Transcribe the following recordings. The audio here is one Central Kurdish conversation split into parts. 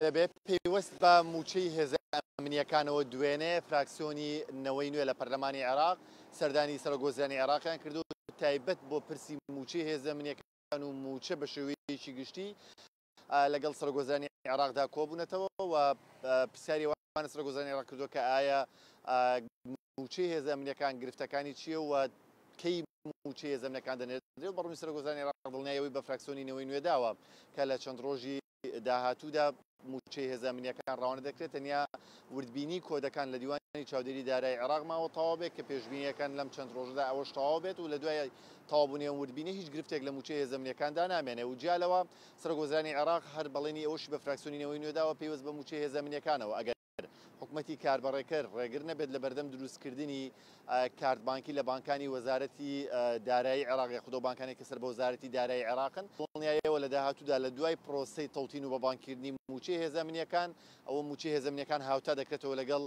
دەبێت پەیوەست بە مووچەی هێزە ئەمنییەکانەوە دوێنێ فراکسیۆنی نەوەی نوێ لە پەرلەمانی عێراق سەردانی سەرۆکوەزیرانی عێراقیان کردو تایبەت بۆ پرسی مووچەی هێزە ئەمنییەکان و مووچە بە شێوەیەکی گشتی لەگەڵ سەرۆکوەزیرانی عێراقدا کۆبوونەتەوە و پرسیاری ئەوان سەرۆکوەزیرانی عێراق کردووە کە ئایا مووچەی هێزە ئەمنییەکان گرفتەکانی چییە و کەی مووچەی هێزە ئەمنییەکان دەنێردرێت و بەڕوونی سەرۆکوەزیرانی عێراق دڵنیایی ئەوەی بە فراکسیۆنی نەوەی نوێ داوە کە لە چەند ڕۆژی داهاتوودا مووچەی هێزە ئەمنییەکان ڕەوانە دەکرێت، تەنیا وردبینی کۆدەکان لە دیوانی چاودێری دارایی عێراق ماوە تەواو بێت کە پێشبینییەکان لەم چەند ڕۆژەدا ئەوەش تەواو بێت و لە دوای تەواوبوونی ئەم وردبینیە هیچ گرفتێک لە مووچەی هێزە ئەمنییەکاندا نامێنێ و جیا لەوە سەرۆکوەزیرانی عێراق هەر بەڵێنی ئەوەشی بە فراکسیۆنی نەوەی نوێ داوە پەیوەست بە مووچەی هێزە ئەمنییەکانەوە ئەگەر حکومەتی کاربەڕێکەر ڕێگر نەبێت لە بەردەم دروستکردنی کارت بانکی لە بانکانی وەزارەتی دارایی عێراق یاخود ئەو بانکانەی کە سەر بە وەزارەتی دارایی عێراقن، دڵنیایەوە لە داهاتوودا لە دوای پرۆسەی تەوتین و بەبانککردنی مووچەی هێزە ئەمنییەکان، ئەوە مووچەی هێزە ئەمنییەکان هاوتا دەکرێتەوە لەگەڵ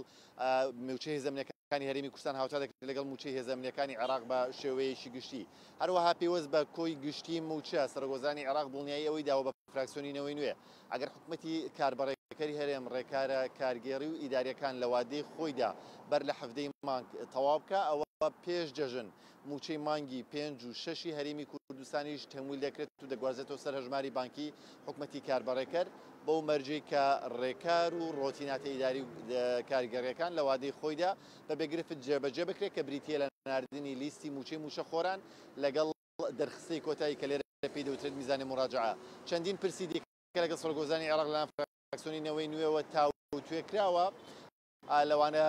مووچەی هێزە ئەمنییەکانی هەرێمی کوردستان هاوتا دەکرێت لەگەڵ مووچەی هێزە ئەمنییەکانی عێراق بە شێوەیەکی گشتی. هەروەها پێوەست بە کۆی گشتی مووچە، سەرۆکوەزیرانی عێراق دڵنیایی ئەوەی داوە بە فراکسیۆنی نەوەی نوێ، ئەگەر حکومەتی کاربەڕێکەری هەرێم ڕێکارە کارگێڕی و ئیدارییەکان لە وادەی خۆیدا بەر لە 17 ی مانگ تەواو بکا، ئەوە پێش جەژن مووچەی مانگی پێنج و شەشی هەرێمی کوردستانیش تەمویل دەکرێت و دەگوازرێتەوە سەر هەژماری بانکی حکومەتی کاربەڕێکەر، بەو مەرجەی کە ڕێکار و ڕۆتیناتە ئیداری و کارگێڕییەکان لە وادەی خۆیدا بەبێ گرفت جێبەجێ بکرێت کە بریتییە لە ناردنی لیستی مووچەی مووچەخۆران لەگەڵ دەرخستەی کۆتایی کە لێرە پێی دەوترێت میزانی موراجەعە. چەندین پرسی دیکە لەگەڵ سەرۆکوەزیرانی عێراق لەلایەن فراکسیۆنی نەوەی نوێوە تاوتوێ کراوە، لەوانە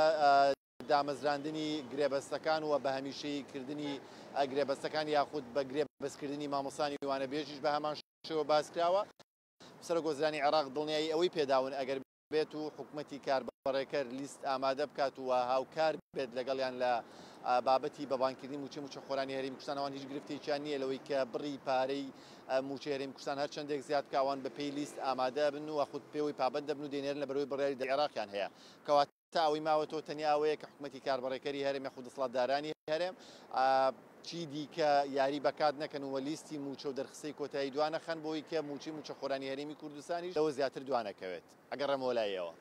دامەزراندنی گرێبەستەکان و بە هەمیشەیی کردنی گرێبەستەکان یاخود بە گرێبەستکردنی مامۆستانی وانەبێژیش بە هەمان شێوە باس کراوە. سەرۆکوەزیرانی عێراق دڵنیایی ئەوەی پێداون ئەگەر بێت و حکومەتی کاربەڕێکەر لیست ئامادە بکات و هاوکار بێت لەگەڵیان لە بابەتی بە بانککردنی مووچەی مووچەخۆرانی هەرێمی کوردستان، ئەوان هیچ گرفتێکیان نییە لەوەی کە بڕی پارەی مووچەی هەرێمی کوردستان هەر چەندێک زیاد بکە ئەوان بەپێی لیست ئامادە بن و خود پێوەی پابەند دەبن و دەینێرن لەبەرئەوەی بڕیاری عێراقیان هەیە. کەواتە ئەوەی ماوەتەوە تەنیا ئەوەیە کە حکومەتی کاربەڕێکەری هەرێم یاخود دەسەڵاتدارانی هەرێم چی دیکە یاری بە کات نەکەن و لیستی مووچە و دەرخستەی کۆتایی دوانەخەن بۆی کە مووچەی مووچەخۆرانی هەرێمی کوردستانیش لەوە زیاتر دوانەکەوێت. ئەگەڕێمەوە لای ئێوە.